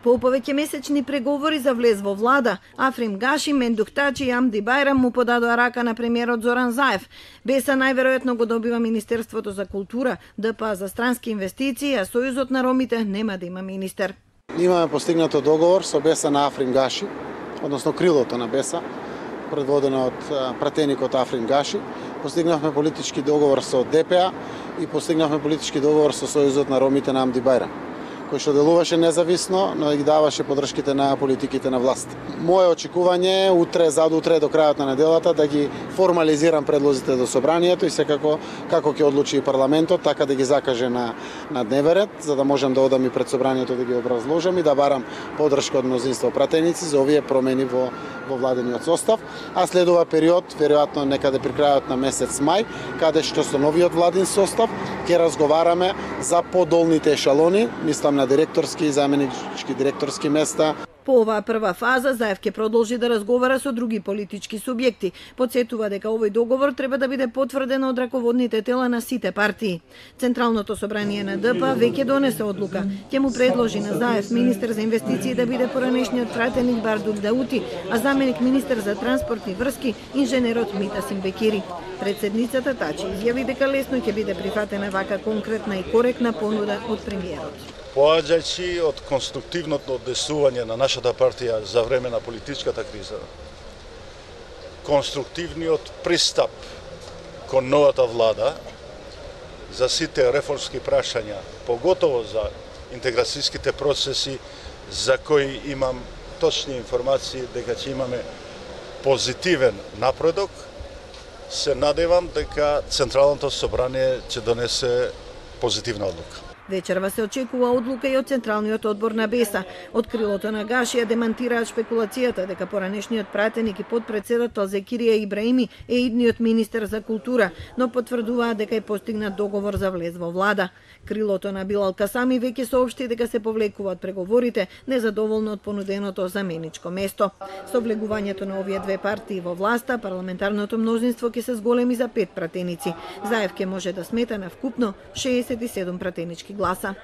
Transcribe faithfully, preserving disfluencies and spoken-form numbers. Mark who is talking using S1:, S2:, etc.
S1: По повеќемесечни преговори за влез во влада, Африм Гаши, Мендух Тачи и Амди Байрам му подадоа рака на премиерот Зоран Заев. Беса најверојатно го добива Министерството за култура, ДПА за странски инвестиции, а Сојузот на ромите нема да има министер.
S2: Имаме постигнато договор со Беса на Африм Гаши, односно крилото на Беса, предводено од пратеникот Африм Гаши. Постигнавме политички договор со ДПА и постигнавме политички договор со Сојузот на ромите на Амди Байрам, кој што делуваше независно, но и даваше подршките на политиките на власт. Моје очекување е утре, задутре до крајот на неделата да ги формализирам предлозите до собранието и секако како ќе одлучи и парламентот, така да ги закаже на на дневен ред, за да можам да одам и пред собранието да ги образложам и да барам подршка од мнозинство пратеници за овие промени во во владениот состав, а следува период, веројатно некаде при крајот на месец мај, каде што со новиот владин состав ќе разговараме за подолните ешалони, мислам на директорски и заменички директорски места.
S1: По оваа прва фаза, Заев ќе продолжи да разговара со други политички субјекти. Подсетува дека овој договор треба да биде потврден од раководните тела на сите партии. Централното собрание на ДПА веќе донесе одлука. Ќе му предложи на Заев министер за инвестиции да биде поранешниот пратеник Бардул Даути, а заменик министер за транспорт и врски инженерот Митасим Бекири. Председницата Тачи изјави дека лесно ќе биде прифатена вака конкретна и коректна понуда од премиерот.
S3: Поаѓајќи од конструктивното однесување на нашата партија за време на политичката криза, конструктивниот пристап кон новата влада за сите реформски прашања, поготово за интеграцијските процеси за кои имам точни информации дека ќе имаме позитивен напредок, се надевам дека Централното собрание ќе донесе позитивна одлука.
S1: Вечерва се очекува одлука и од Централниот одбор на Беса. Од крилото на Гашија демантираат шпекулацијата дека поранешниот пратеник и подпредседател Зекирија Ибраими е идниот министер за култура, но потврдуваат дека е постигнат договор за влез во влада. Крилото на Билал Касами веќе соопшти дека се повлекуваат преговорите, незадоволно од понуденото заменичко место. Со влегувањето на овие две партии во власта, парламентарното мнозинство ќе се зголеми за пет пратеници. Заев ќе може да смета на вкупно шеесет и седум пратенички гласа.